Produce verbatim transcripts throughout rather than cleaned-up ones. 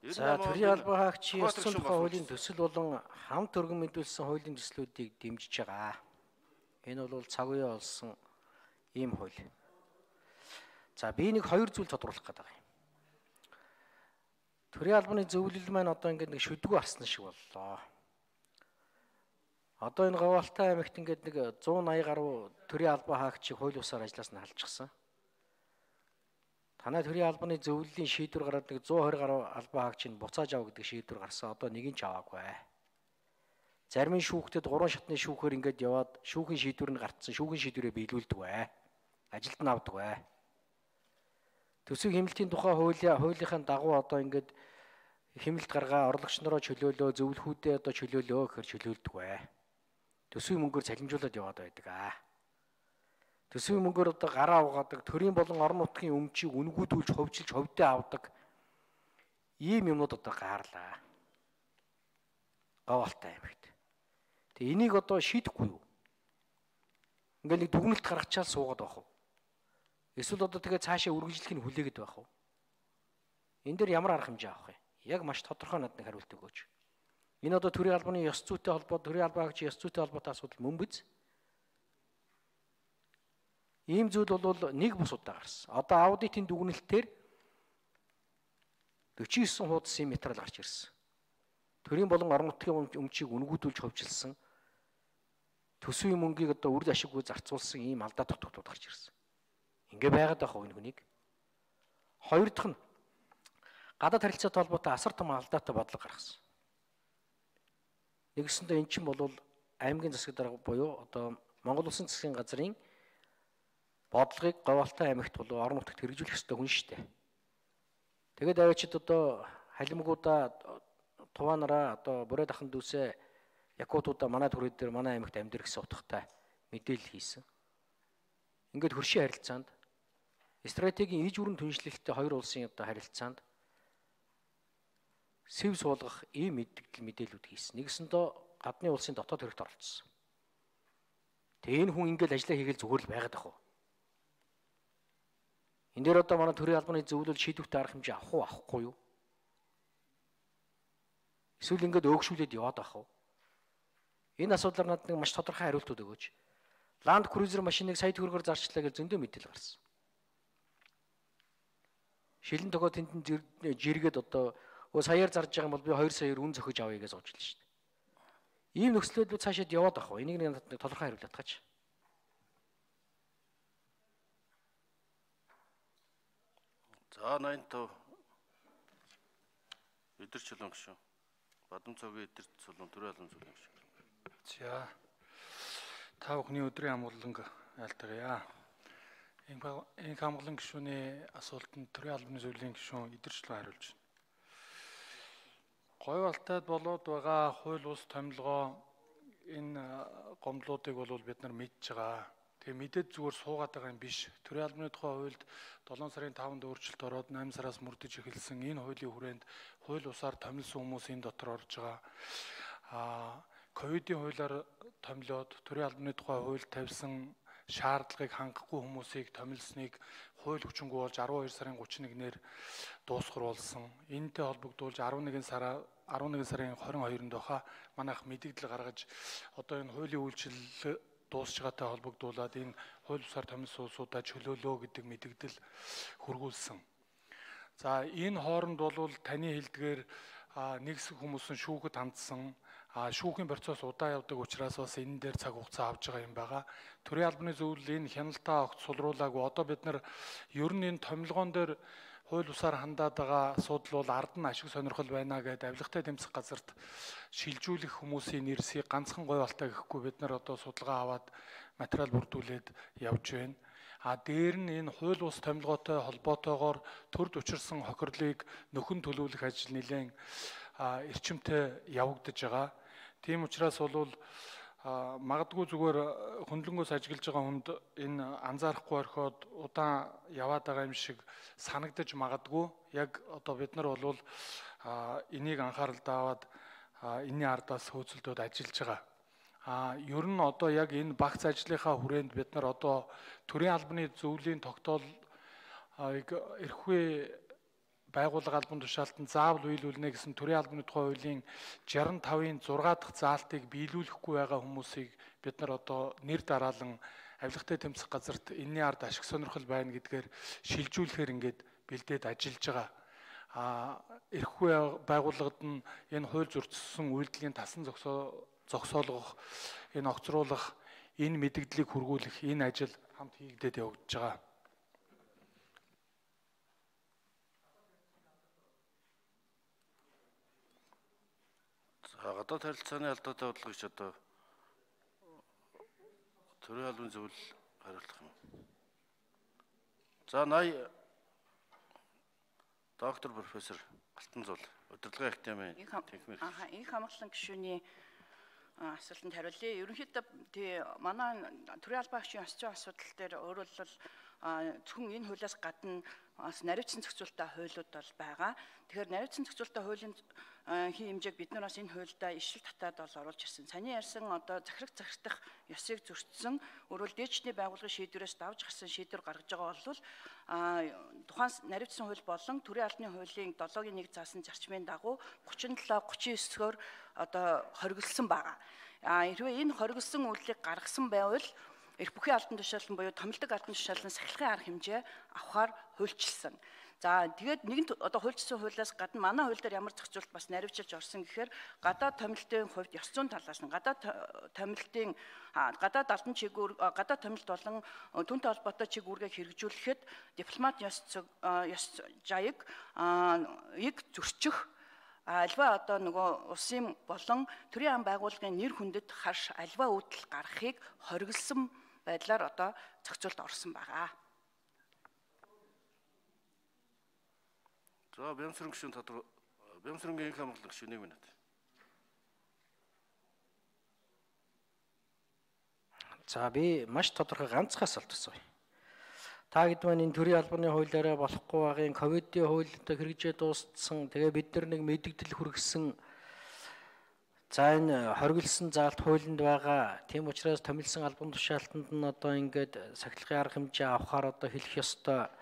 За төрийн албан хаагчийн ёс зүйн тухай хуулийн төсөл болон хамт өргөн мэдүүлсэн хуулийн төслүүдийг дэмжиж байгаа. Энэ бол цаг үеэ олсон ийм хууль. За би нэг хоёр зүйл тодруулах гэдэг юм. Төрийн албаны зөвлөл маань одоо ингээд нэг шүдгүү арсан шиг боллоо. Одоо энэ Говьалтай аймагт ингээд нэг зуун аяа гаруй төрийн албан хаагчийг хууль бусаар ажиллаас нь халчихсан. Танай төрийн албаны зөвлөлийн шийдвэр гараад нэг зуун хоёр гаруй албан хаагчийг буцааж авах гэдэг шийдвэр гарсан. Одоо нэг нь ч аваагүй. Зарим нь шүүхтэд гурван шатны шүүхээр ингээд яваад шүүхийн шийдвэр нь гартсан. Шүүхийн шийдвэрээ биелүүлдэг бай. Ажилд нь авдаг бай. Төсөв хэмнэлтийн тухай хуулийн хуулийнхаа дагуу одоо ингээд хэмнэлт гаргаа орлогч нароо чөлөөлөө, зөвлөхүүдээ одоо чөлөөлөө гэхээр чөлөөлдөг бай. Төсвийн мөнгөөр цалинжуулаад яваад байдаг аа. Төсвийн мөнгөөр одоо гараа угаадаг, төрийн болон орон нутгийн өмчийг үнгүүдүүлж ховжилж ховдөө авдаг ийм юмнууд одоо gaарлаа. Говьалтай аймагт. Тэгээ энийг одоо шийдэхгүй юу? Ингээл нэг дүгнэлт гаргачаал суугаад байх уу? Эсвэл одоо тэгээ цаашаа үргэлжлэхийг хүлээгээд байх уу? Энэ дээр ямар арга хэмжээ авах юм? Яг маш тодорхой надад хариулт өгөөч. Энэ одоо төрийн албаны ёс зүйтэй холбоо, төрийн албан хаагчийн ёс зүйтэй холбоотой асуудал мөн биз? Ийм зүйл бол нэг бус удаа гарсан. Одоо аудитын дүгнэлтээр дөрвөн девять хуудас ийм материал гарч ирсэн. Төрийн болон орон нутгийн өмчийг үнгүүдүүлж ховжилсан. Төсвийн мөнгийг одоо үр ашиггүй зарцуулсан ийм алдаа дутагдууд гарч ирсэн. Ингээ байгаад байх уу энэ хүнийг? Хоёр дахь нь гадаад харилцаатай холбоотой асар том алдаатай бодлого гаргасан. Нэгсэндээ эн чинь бол аймгийн засаг дарга буюу одоо Монгол Улсын засгийн газрын бодлогыг Говьалтай аймагт болоо орон нутагт хэрэгжүүлэх ёстой хүн шүү дээ. Тэгээд аваачид одоо халимгуудаа туваанараа одоо бүрээд ахын дүүсээ якутуудаа манай төрөд дээр манай аймагт амьдэр гэсэн утгатай мэдээлэл хийсэн. Ингээд хөршийн харилцаанд стратегийн иж бүрэн түншлэлтэй хоёр улсын одоо харилцаанд сэв суулгах ийм мэдээлэл мэдээлүүд хийсэн. Нэгсэндээ гадны улсын дотоод хэрэгт оролцсон. Тэгээ энэ хүн ингээд ажиллаа хийгээл зүгээр л байгаад ах уу? Энэ дээр одоо манай төрийн албаны зөвлөл шийдвэртэй арга хэмжээ авах уу, авахгүй юу? Эсвэл ингээд өөгшүүлээд яваад ах уу? Энэ асуудлаар надад нэг маш тодорхой хариултууд өгөөч. Land Cruiser машиныг сая төгрөгөөр зарчлаа гэж зөндөө мэдээлэл гарсан. Шилэн тогоо тэнд жиргээд одоо өө саяар зарж байгаа юм бол би хоёр саяар үн зөхөж авъя гэж сууж л шүү дээ. Ийм нөхцөлөд цаашаад яваад ах уу? Энийг нэг тодорхой хариулт атгаач. За ninety Өдөр чулуун гişүн. Бадам цогийн өдөр чулуун төрийн албан цогийн гişүн. За та бүхний өдрийн амгаланг айлтгая. Энэ амгалан гişүний асуултанд төрийн албаны зөвлөлийн гишүүн өдөр чулуун хариулж байна. Говьалтайд болоод байгаа хууль ус томилгоо энэ гомдлуудыг бол бид нар мэдж байгаа. Тэгээ мэдээд зүгээр суугаад байгаа юм биш. Төрийн албаны тухай хуульд долоон сарын таванд өөрчлөлт ороод найман сараас мөрдөж эхэлсэн энэ хуулийн хүрээнд хууль усаар томилсон хүмүүс энэ дотор орж байгаа. Аа ковидын хуулиар томилоод төрийн албаны тухай хуульд тавьсан шаардлагыг хангахгүй хүмүүсийг томилсныг хууль хүчингү болж арван хоёр сарын гуравч нэгнээр дуусгар болсон. Энэтэй холбогдуулж арван нэгэн сарын арван нэгэн сарын хорин хоёрнд баха манайх мэдээлэл гаргаж одоо энэ хуулийн үйлчилэл дуусч байгаатай холбогдуулаад энэ хууль бусаар томилсон улсуудаа чөлөөлөө гэдэг мэдээлэл хургуулсан. За энэ хооронд бол таны хэлдгээр нэг хэсэг хүмүүс нь шүүхэд хандсан. А шүүхийн процесс удаа явдаг учраас бас энэ дээр цаг хугацаа авч байгаа юм байгаа. Төрийн албаны зөвлөл энэ хяналтаа огт сулруулаагүй. Одоо бид нар ер нь энэ томилгоон дээр хууль бусаар хандаад байгаа асуудал бол ард нь ашиг сонирхол байна гэдэг авилгатай тэмцэх газарт шилжүүлэх хүмүүсийн нэрсийг ганцхан Говьалтай гэхгүй бид нар одоо судалгаа аваад материал бүрдүүлээд явж байна. А дээр нь энэ хууль бус томилгоотой холбоотойгоор төрд учирсан хохирлыг нөхөн төлөвлөх ажил нэлээд эрчимтэй явагдаж байгаа. Тийм учраас бол магадгүй зүгээр хөндлөнгөөс ажиглаж байгаа хүнд энэ анзаарахгүй орхиод удаан яваад байгаа юм шиг санагдаж магадгүй. Яг одоо бид нар бол энийг анхааралд аваад энэний ардаас хөөцөлдөөд ажиллаж байгаа. А ер нь одоо яг энэ багц ажлынхаа хүрээнд бид нар одоо төрийн албаны зөвлөлийн тогтоол эрхвээ байгууллага албан тушаалтанд заавал биелүүлнэ гэсэн төрийн албаны тухай хуулийн шестьдесят тавын зургаа дахь заалтыг биелүүлэхгүй байгаа хүмүүсийг бид нар одоо нэр дараалан авилгатай тэмцэх газарт энэний ард ашиг сонирхол байна гэдгээр шилжүүлэхээр ингээд бэлдээд ажиллаж байгаа. А эрхгүй байгууллагад нь энэ хууль зөрчсөн үйлдлийн тасан зогсоолгох, энэ огцруулах, энэ мэдэгдлийг хүргүүлэх энэ ажил хамт хийгдээд явагдаж байгаа. За гадаад харилцааны алдаатай бодлогоч одоо төрийн албаны зөвлөл хариулах юм. За ная доктор профессор Алтанзуул удирдлагын академийн техник. Аа их хамгааллын гишүүний асуултанд хариулъя. Ерөнхийдөө тий манай төрийн албан агшийн ёс зүйн асуудал дээр өөрөөр хэлбэл зөвхөн энэ хуулиас гадна бас наривчсан зохицуулалттай хуулиуд бол байгаа. Тэгэхээр наривчсан зохицуулалттай хуулийн хин хэмжээг бид нар бас энэ хуульдаа ишил татаад бол оруулж ирсэн. Саний ярьсан одоо захирах захирдах ёсыг зөрчсөн өөрөөр дээдчдийн байгууллагын шийдвэрээс давж гарсан шийдвэр гаргаж байгаа бол тухайн наривчсан хууль болон төрийн албаны хуулийн долоогийн нэг заасан зарчмын дагуу гучин долоо гучин девятөөр одоо хоригдсан байгаа. А хэрвээ энэ хоригдсан үйлдэлийг гаргасан байвал эрх бүхий албан тушаалан буюу томилдог албан тушаалан сахилгын арга хэмжээ авахар хуульчилсан. За тэгээд нэгэн одоо хуульчилсан хуулиас гадна манай хууль дээр ямар зохицуулалт бас наривчилж орсон гэхээр гадаад томилтын хувьд ёс зүйн талаас нь гадаад томилтын гадаад албан чиглэл гадаад томилт болон түүнтэй холбоотой чиглэлгээ хэрэгжүүлэхэд дипломат ёс ёс жаяг ийг зөрчих альва одоо нөгөө улсын болон төрийн ам байгууллагын нэр хүндэд харш альва үүдэл гаргахыг хориглосон байдлаар одоо зохицуулт орсон байгаа. За Бямсрын гишүүн тодор Бямсрынгийн их хамгааллын гишүүн нэг минут. За би маш тодорхой ганцхан асуулт асууя. Та хэд маань энэ төрийн албаны хуулиараа болохгүй байгын ковидын хуулитай хэрэгжээ дууссан. Тэгээ бид нар нэг мэдэгдэл хүргэсэн. За энэ хориглосон заалт хуулинд байгаа. Тийм учраас томилсон албан тушаалтанд нь одоо ингээд сахилгын арга хэмжээ авахаар одоо хэлэх ёстой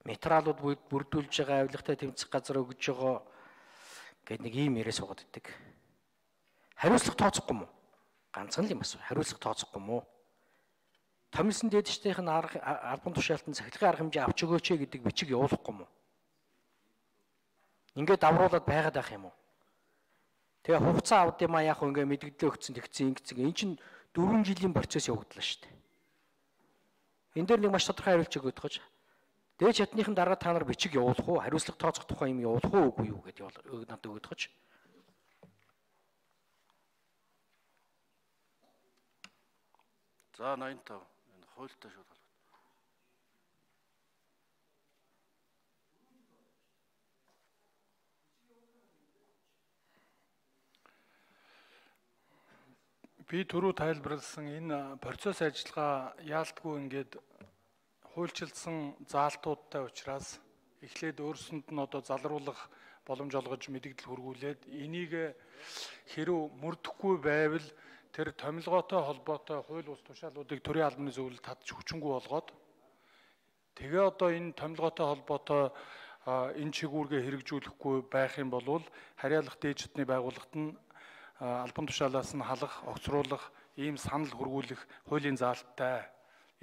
материалууд бүрдүүлж байгаа авилгатай тэмцэх газар өгж байгаа гэдэг нэг ийм яриа суугаад идэг. Хариуцлага тооцохгүй мó? Ганцхан л юм асуу. Хариуцлага тооцохгүй мó? Томилсон дээдчдийнх нь албан тушаалтанд сахилгын арга хэмжээ авч өгөөч гэдэг бичиг явуулахгүй мó? Ингээд давруулаад байгаад байх юм уу? Тэгээ хугацаа авд юм а яг ингээ мэдгдлээ өгцөн тэгцэн ингэцэн эн чинь дөрвөн жилийн процесс явагдлаа шүү дээ. Энд дээр нэг маш тодорхой хариулт өгöd гож. Дээд чадныхын дараа та нар бичиг явуулах уу? Хариуцлага тооцох тухай юм явуулах уу үгүй юу гэдээ надад өгöd гож. За найман тав энэ хуультай шууд холбоотой. Би түрүү тайлбарласан энэ процесс ажиллагаа яалтгүй ингээд хуульчилсан заалтуудтай учраас эхлээд өөрсөнд нь одоо залруулах боломж олгож мэдэгдэл хүргүүлээд энийг хэрв мөрдөхгүй байвал тэр томилгоотой холбоотой хууль бус тушаалуудыг төрийн албаны зөвлөлд татж хүчингүй болгоод тэгээ одоо энэ томилгоотой холбоотой энэ чигүүргээ хэрэгжүүлэхгүй байх юм бол харьяалах дээд шатны байгууллагт нь албан тушаалаас нь халах, огцруулах, ийм санал хүргүүлэх хуулийн заалттай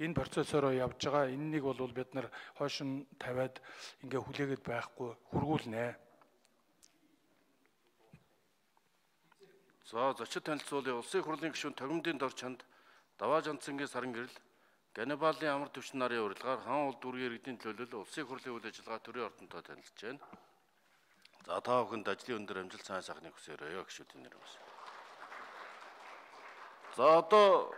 энэ процессороо явж байгаа. Энэнийг бол бид нар хойшин тавиад ингээ хүлээгээд байхгүй хүргүүлнэ. За зочид танилцуулъя. Улсын их хурлын гишүүн Тогимдын дор чанд Даваа Жанцангийн саран гэрэл Ганнибалын амар төвчин нарын урилгаар хаан улд үргийн иргэдийн төлөөлөл улсын их хурлын үйл ажиллагаа төрийн ордонтой танилцж байна. За та бүхэнд ажлын өндөр амжилт сайн сайхныг хүсээрэй гишүүдийн нэрээс. За одоо